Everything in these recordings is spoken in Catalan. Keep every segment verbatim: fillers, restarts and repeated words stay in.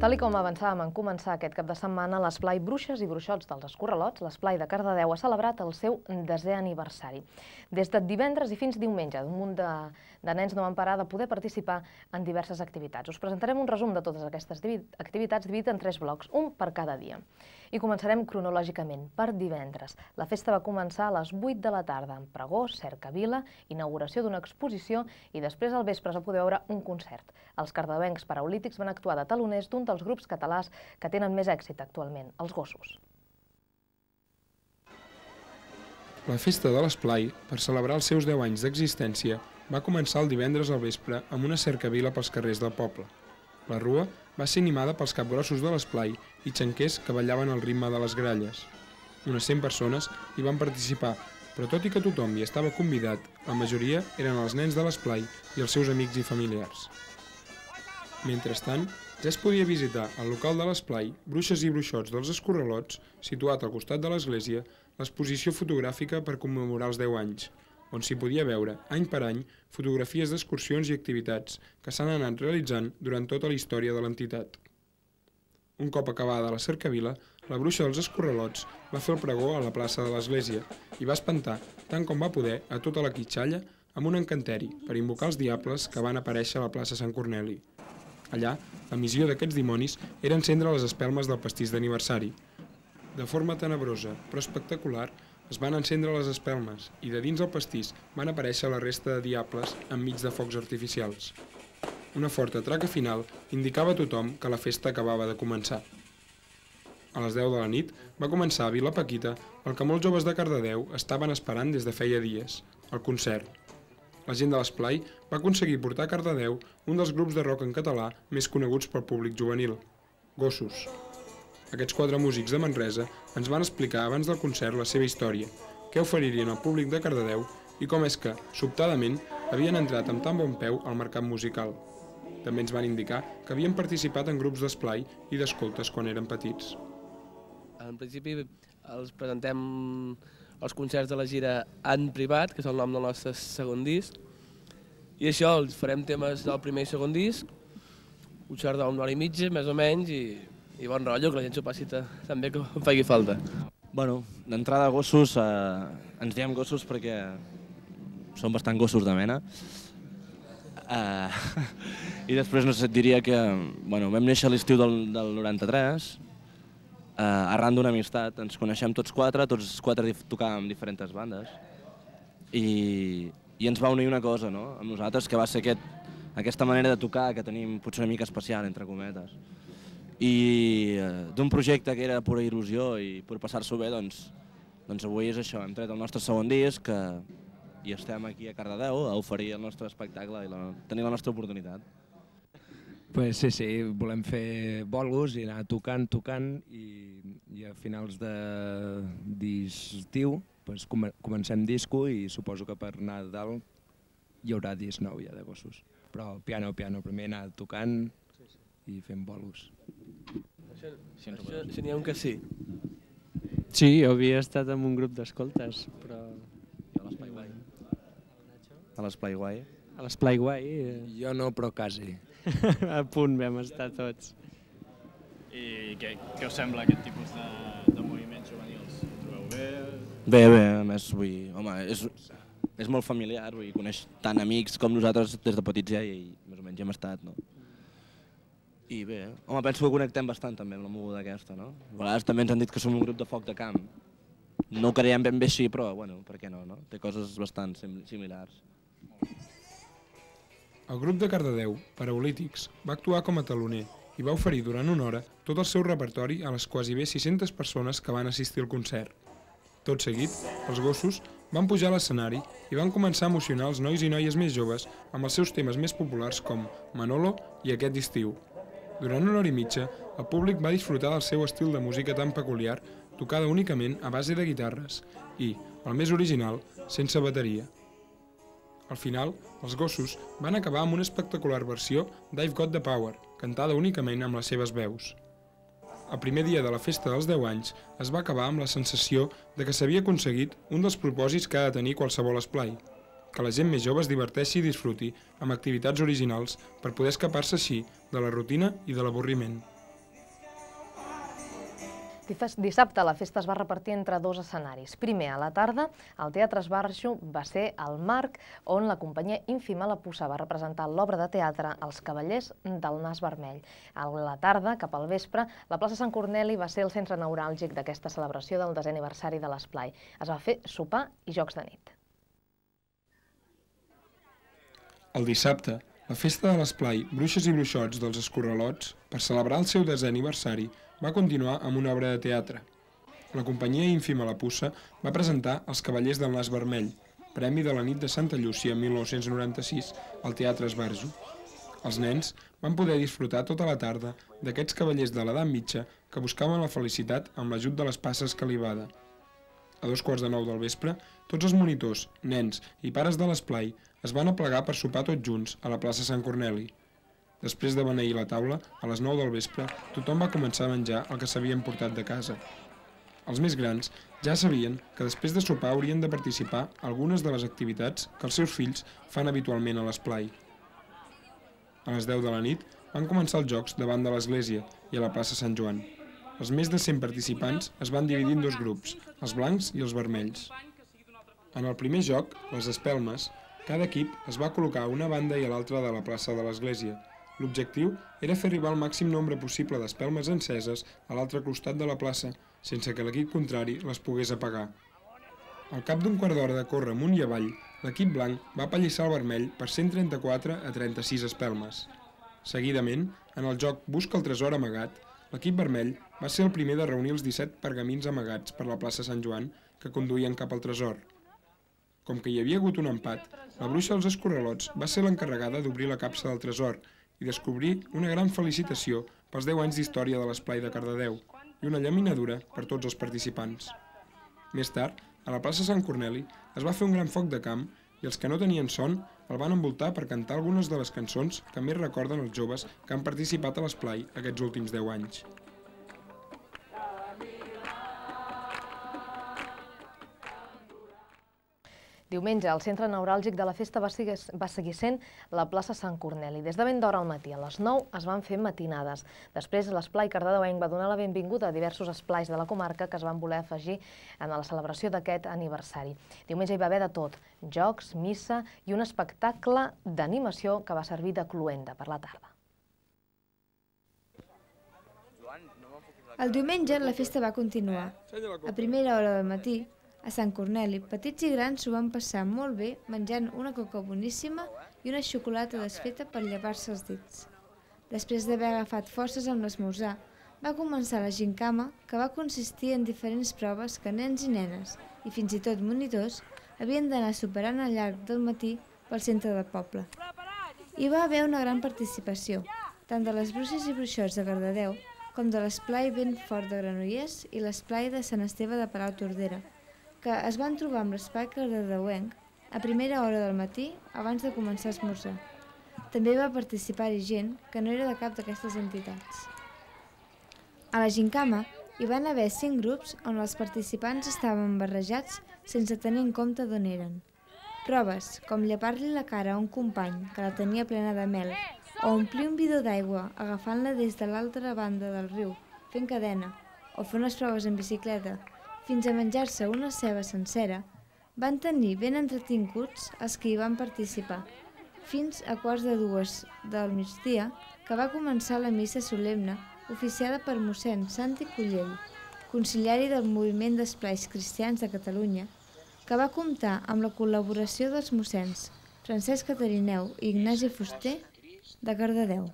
Tal com avançàvem en començar aquest cap de setmana, l'esplai Bruixes i Bruixots dels Escorralots, l'esplai de Cardedeu, ha celebrat el seu desè aniversari. Des de divendres i fins diumenge, un munt de, de nens no van parar de poder participar en diverses activitats. Us presentarem un resum de totes aquestes activitats dividit en tres blocs, un per cada dia. I començarem cronològicament, per divendres. La festa va començar a les vuit de la tarda, amb pregó, cercavila, inauguració d'una exposició i després al vespre es va poder veure un concert. Els cardedeuencs paraulítics van actuar de taloners d'un dels grups catalans que tenen més èxit actualment, els Gossos. La festa de l'esplai, per celebrar els seus deu anys d'existència, va començar el divendres al vespre amb una cercavila pels carrers del poble. La rua va ser animada pels capgrossos de l'esplai i xanquers que ballaven al ritme de les gralles. Unes cent persones hi van participar, però tot i que tothom hi estava convidat, la majoria eren els nens de l'esplai i els seus amics i familiars. Mentrestant, ja es podia visitar al local de l'esplai Bruixes i Bruixots dels Escorralots, situat al costat de l'església, l'exposició fotogràfica per commemorar els deu anys, on s'hi podia veure, any per any, fotografies d'excursions i activitats que s'han anat realitzant durant tota la història de l'entitat. Un cop acabada la cercavila, la bruixa dels Escorralots va fer el pregó a la plaça de l'església i va espantar, tant com va poder, a tota la quitxalla amb un encanteri per invocar els diables que van aparèixer a la plaça Sant Corneli. Allà, la missió d'aquests dimonis era encendre les espelmes del pastís d'aniversari. De forma tenebrosa, però espectacular, es van encendre les espelmes i de dins el pastís van aparèixer la resta de diables enmig de focs artificials. Una forta traca final indicava a tothom que la festa acabava de començar. A les deu de la nit va començar a Vila Paquita el que molts joves de Cardedeu estaven esperant des de feia dies, el concert. La gent de l'esplai va aconseguir portar a Cardedeu un dels grups de rock en català més coneguts pel públic juvenil, Gossos. Aquests quatre músics de Manresa ens van explicar abans del concert la seva història, què oferirien al públic de Cardedeu i com és que, sobtadament, havien entrat amb tan bon peu al mercat musical. També ens van indicar que havien participat en grups d'esplai i d'escoltes quan eren petits. En principi els presentem els concerts de la gira en privat, que és el nom del nostre segon disc, i això, els farem temes del primer i segon disc, un xart d'una hora i mitja, més o menys, i i bon rotllo, que la gent s'ho passi també que em faci falta. Bueno, d'entrada Gossos, eh, ens diem Gossos perquè som bastant gossos de mena. Eh, I després no sé, et diria que bueno, vam néixer a l'estiu del, del noranta-tres, eh, arran d'una amistat, ens coneixem tots quatre, tots quatre tocàvem diferents bandes, i, i ens va unir una cosa, no?, amb nosaltres, que va ser aquest, aquesta manera de tocar que tenim potser una mica especial, entre cometes. I d'un projecte que era pura il·lusió i per passar-s'ho bé, doncs, doncs avui és això, hem tret el nostre segon disc que, i estem aquí a Cardedeu a oferir el nostre espectacle i la, tenir la nostra oportunitat. Pues sí, sí, volem fer bolos i anar tocant, tocant i, i a finals d'estiu pues, comencem disco i suposo que per Nadal hi haurà disc nou ja de Gossos. Però piano, piano, primer anar tocant i fent bolos. Això, això, això n'hi ha un que sí. Sí, jo havia estat en un grup d'escoltes, però... Jo a l'Esplai Guai. A l'Esplai Guai. A l'Esplai Guai? Jo no, però quasi. A punt vam estar tots. I què, què us sembla aquest tipus de, de moviments juvenils? Ho trobeu bé? Bé, bé, a més, vull dir, home, és, és molt familiar, vull dir, coneix tant amics com nosaltres des de petits ja i més o menys hem estat, no? I bé, home, penso que connectem bastant també amb la moguda aquesta, no? A vegades també ens han dit que som un grup de foc de camp. No ho creiem ben bé així, però, bueno, per què no, no? Té coses bastant similars. El grup de Cardedeu, Paraulítics, va actuar com a taloner i va oferir durant una hora tot el seu repertori a les quasi bé sis-centes persones que van assistir al concert. Tot seguit, els Gossos van pujar a l'escenari i van començar a emocionar els nois i noies més joves amb els seus temes més populars com Manolo i Aquest estiu. Durant una hora i mitja, el públic va disfrutar del seu estil de música tan peculiar, tocada únicament a base de guitarres i, el més original, sense bateria. Al final, els Gossos van acabar amb una espectacular versió d'I've Got the Power, cantada únicament amb les seves veus. El primer dia de la festa dels deu anys es va acabar amb la sensació de que s'havia aconseguit un dels propòsits que ha de tenir qualsevol esplai, que la gent més jove es diverteixi i disfruti amb activitats originals per poder escapar-se així de la rutina i de l'avorriment. Dissabte la festa es va repartir entre dos escenaris. Primer, a la tarda, el Teatre Esbarjo va ser el marc on la companyia ínfima La Puça va representar l'obra de teatre Els cavallers del nas vermell. A la tarda, cap al vespre, la plaça Sant Corneli va ser el centre neuràlgic d'aquesta celebració del desè aniversari de l'Esplai. Es va fer sopar i jocs de nit. El dissabte, la festa de l'Esplai Bruixes i Bruixots dels Escorralots, per celebrar el seu desè aniversari, va continuar amb una obra de teatre. La companyia ínfima La Puça va presentar Els cavallers del nas vermell, premi de la nit de Santa Llúcia mil nou-cents noranta-sis al Teatre Esbarjo. Els nens van poder disfrutar tota la tarda d'aquests cavallers de l'edat mitja que buscaven la felicitat amb l'ajut de les passes calibada. A dos quarts de nou del vespre, tots els monitors, nens i pares de l'Esplai es van aplegar per sopar tots junts a la plaça Sant Corneli. Després de beneir la taula, a les nou del vespre, tothom va començar a menjar el que s'havien portat de casa. Els més grans ja sabien que després de sopar haurien de participar a algunes de les activitats que els seus fills fan habitualment a l'Esplai. A les deu de la nit van començar els jocs davant de l'església i a la plaça Sant Joan. Els més de cent participants es van dividir en dos grups, els blancs i els vermells. En el primer joc, les espelmes, cada equip es va col·locar a una banda i a l'altra de la plaça de l'església. L'objectiu era fer arribar el màxim nombre possible d'espelmes enceses a l'altre costat de la plaça, sense que l'equip contrari les pogués apagar. Al cap d'un quart d'hora de córrer amunt i avall, l'equip blanc va apallissar el vermell per cent trenta-quatre a trenta-sis espelmes. Seguidament, en el joc Busca el tresor amagat, l'equip vermell va ser el primer de reunir els disset pergamins amagats per la plaça Sant Joan que conduïen cap al tresor. Com que hi havia hagut un empat, la bruixa dels Escorralots va ser l'encarregada d'obrir la capsa del tresor i descobrir una gran felicitació pels deu anys d'història de l'Esplai de Cardedeu i una llaminadura per tots els participants. Més tard, a la plaça Sant Corneli es va fer un gran foc de camp i els que no tenien son el van envoltar per cantar algunes de les cançons que més recorden els joves que han participat a l'Esplai aquests últims deu anys. Diumenge, el centre neuràlgic de la festa va seguir, va seguir sent la plaça Sant Corneli. Des de ben d'hora al matí, a les nou, es van fer matinades. Després, l'Esplai cardedeuenc va donar la benvinguda a diversos esplais de la comarca que es van voler afegir en la celebració d'aquest aniversari. Diumenge hi va haver de tot, jocs, missa i un espectacle d'animació que va servir de cloenda per la tarda. El diumenge la festa va continuar. A primera hora del matí, a Sant Corneli, petits i grans s'ho van passar molt bé menjant una coca boníssima i una xocolata desfeta per llevar-se els dits. Després d'haver agafat forces amb l'esmorzar, va començar la gincama, que va consistir en diferents proves que nens i nenes, i fins i tot monitors, havien d'anar superant al llarg del matí pel centre del poble. Hi va haver una gran participació, tant de les bruixes i bruixots de Cardedeu com de l'Esplai Ben Fort de Granollers i l'Esplai de Sant Esteve de Palau-Tordera, que es van trobar amb l'Esplai cardedeuenc a primera hora del matí abans de començar a esmorzar. També va participar-hi gent que no era de cap d'aquestes entitats. A la gincama hi van haver cinc grups on els participants estaven barrejats sense tenir en compte d'on eren. Proves com llepar-li la cara a un company que la tenia plena de mel o omplir un bidó d'aigua agafant-la des de l'altra banda del riu fent cadena o fer unes proves en bicicleta fins a menjar-se una ceba sencera, van tenir ben entretinguts els que hi van participar, fins a quarts de dues del migdia, que va començar la missa solemne oficiada per mossèn Santi Cullell, conciliari del Moviment d'Esplais Cristians de Catalunya, que va comptar amb la col·laboració dels mossens Francesc Catarineu i Ignasi Fuster de Cardedeu.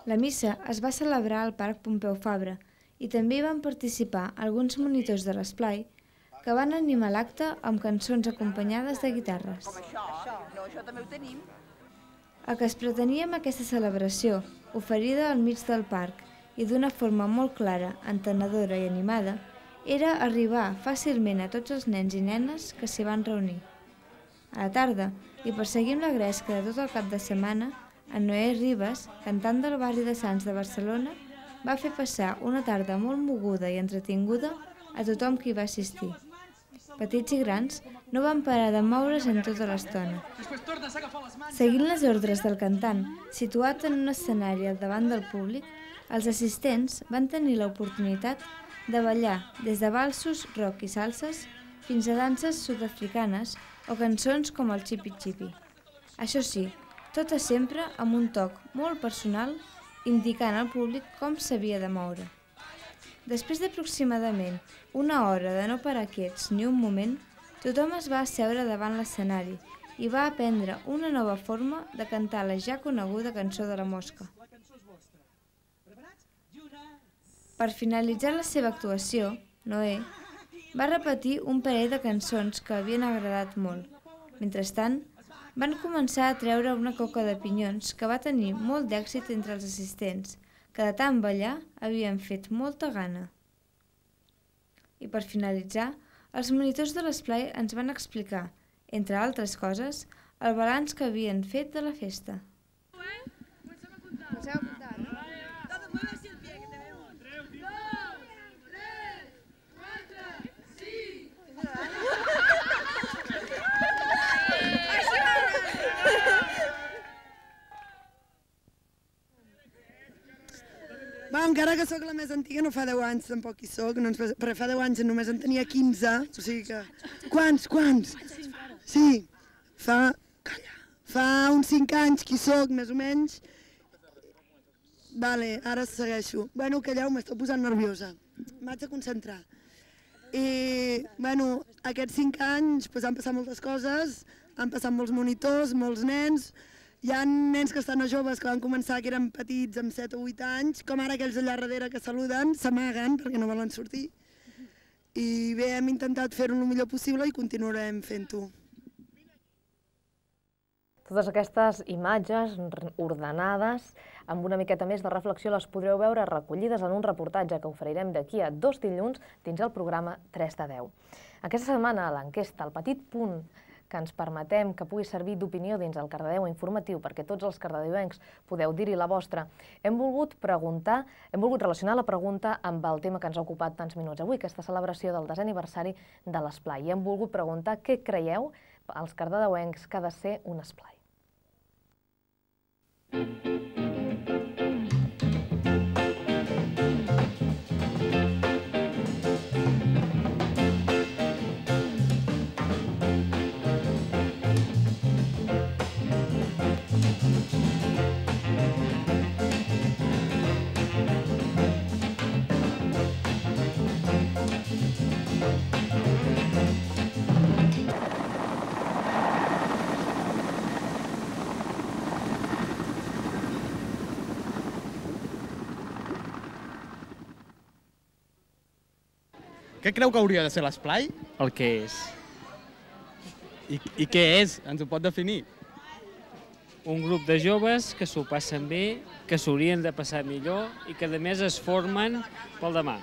La missa es va celebrar al Parc Pompeu Fabra, i també hi van participar alguns monitors de l'Esplai que van animar l'acte amb cançons acompanyades de guitarres. El que es pretenia amb aquesta celebració, oferida al mig del parc i d'una forma molt clara, entenedora i animada, era arribar fàcilment a tots els nens i nenes que s'hi van reunir. A la tarda, i per seguir amb la gresca de tot el cap de setmana, en Noé Ribas, cantant del barri de Sants de Barcelona, va fer passar una tarda molt moguda i entretinguda a tothom que hi va assistir. Petits i grans no van parar de moure's en tota l'estona. Seguint les ordres del cantant, situat en un escenari al davant del públic, els assistents van tenir l'oportunitat de ballar des de valsos, rock i salses fins a danses sud-africanes o cançons com el Chipi Chipi. Això sí, totes sempre amb un toc molt personal indicant al públic com s'havia de moure. Després d'aproximadament una hora de no parar quiets ni un moment, tothom es va asseure davant l'escenari i va aprendre una nova forma de cantar la ja coneguda cançó de la mosca. Per finalitzar la seva actuació, Noé va repetir un parell de cançons que havien agradat molt. Mentrestant, van començar a treure una coca de pinyons que va tenir molt d'èxit entre els assistents, que de tant ballar havien fet molta gana. I per finalitzar, els monitors de l'esplai ens van explicar, entre altres coses, el balanç que havien fet de la festa. Va, encara que sóc la més antiga, no fa deu anys, tampoc hi soc, no, però fa deu anys només en tenia quinze, o sigui que... Quants, quants? Sí, fa... Calla. Fa uns cinc anys que hi soc, més o menys. Vale, ara segueixo. Bueno, calleu, m'estic posant nerviosa. M'haig de concentrar. I, bueno, aquests cinc anys pues, han passat moltes coses, han passat molts monitors, molts nens. Hi ha nens que estan a joves que van començar que eren petits amb set o vuit anys, com ara aquells allà darrere que saluden, s'amaguen perquè no volen sortir. I bé, hem intentat fer-ho el millor possible i continuarem fent-ho. Totes aquestes imatges ordenades, amb una miqueta més de reflexió, les podreu veure recollides en un reportatge que oferirem d'aquí a dos dilluns dins el programa tres de deu. Aquesta setmana, a l'enquesta, el petit punt que ens permetem que pugui servir d'opinió dins el Cardedeu informatiu perquè tots els cardedeuencs podeu dir-hi la vostra, hem volgut preguntar, hem volgut relacionar la pregunta amb el tema que ens ha ocupat tants minuts avui, aquesta celebració del desè aniversari de l'esplai. I hem volgut preguntar què creieu als cardedeuencs que ha de ser un esplai. Què creu que hauria de ser l'esplai? El que és. I, I què és? Ens ho pot definir? Un grup de joves que s'ho passen bé, que s'haurien de passar millor i que a més es formen pel demà.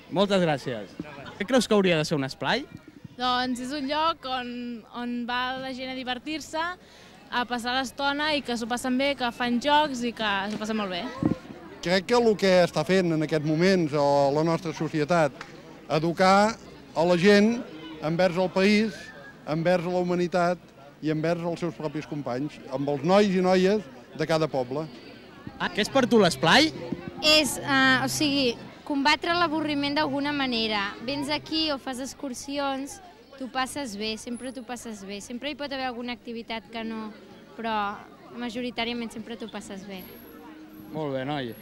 Moltes gràcies. Què creus que hauria de ser un esplai? Doncs és un lloc on, on va la gent a divertir-se, a passar l'estona i que s'ho passen bé, que fan jocs i que s'ho passen molt bé. Crec que el que està fent en aquests moments a la nostra societat educar a la gent envers el país, envers la humanitat i envers els seus propis companys, amb els nois i noies de cada poble. Ah, què és per tu l'esplai? És, uh, o sigui, combatre l'avorriment d'alguna manera. Vens aquí o fas excursions, t'ho passes bé, sempre t'ho passes bé. Sempre hi pot haver alguna activitat que no, però majoritàriament sempre t'ho passes bé. Molt bé, noi.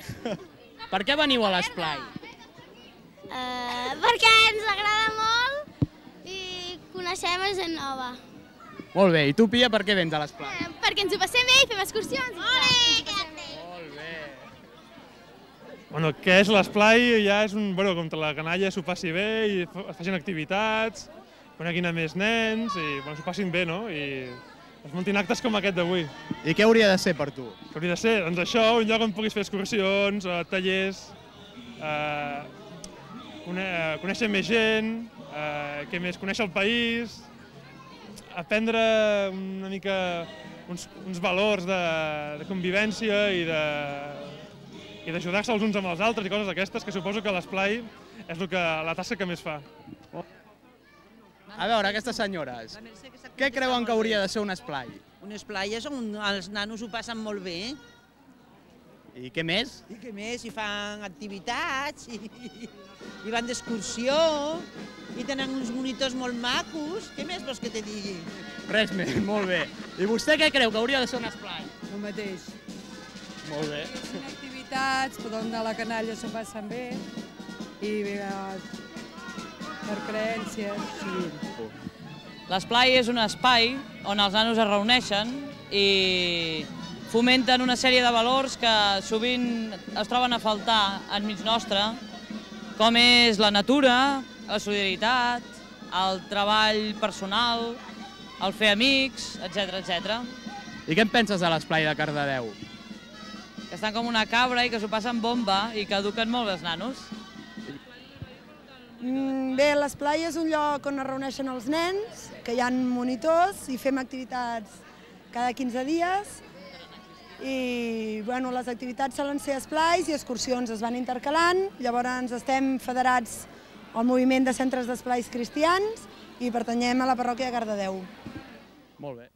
Per què veniu a l'esplai? Uh, perquè ens agrada molt i coneixem gent nova. Molt bé, i tu, Pia, per què vens a l'esplai? Uh, perquè ens ho passem bé i fem excursions. Ole, que bé! Molt bé. Bueno, què és l'esplai? Ja és un, bueno, com la canalla s'ho passi bé i es facin activitats, coneguin a més nens i bueno, s'ho passin bé, no? I es muntin actes com aquest d'avui. I què hauria de ser per tu? Què hauria de ser? Doncs això, un lloc on puguis fer excursions, tallers, eh, conèixer més gent, eh, què més, conèixer el país, aprendre una mica uns, uns valors de, de convivència i de i d'ajudar-se els uns amb els altres i coses d'aquestes, que suposo que l'esplai és el que, la tasca que més fa. A veure, aquestes senyores, què creuen que hauria de ser un esplai? Un esplai és on els nanos ho passen molt bé. I què més? I què més? I fan activitats, i, i van d'excursió, i tenen uns monitors molt macos. Què més vols que te digui? Res més, molt bé. I vostè què creu que hauria de ser un esplai? El mateix. Molt bé. Són activitats per on a la canalla s'ho passen bé i per creences. Sí. L'esplai és un espai on els nanos es reuneixen i fomenten una sèrie de valors que sovint es troben a faltar enmig nostre, com és la natura, la solidaritat, el treball personal, el fer amics, etcètera, etcètera. I què en penses de l'esplai de Cardedeu? Que estan com una cabra i que s'ho passen bomba i que eduquen molt bé els nanos. Bé, l'esplai és un lloc on es reuneixen els nens, que hi ha monitors i fem activitats cada quinze dies. I bueno, les activitats solen ser esplais i excursions, es van intercalant. Llavors estem federats al moviment de centres d'esplais cristians i pertanyem a la parròquia de Cardedeu. Molt bé.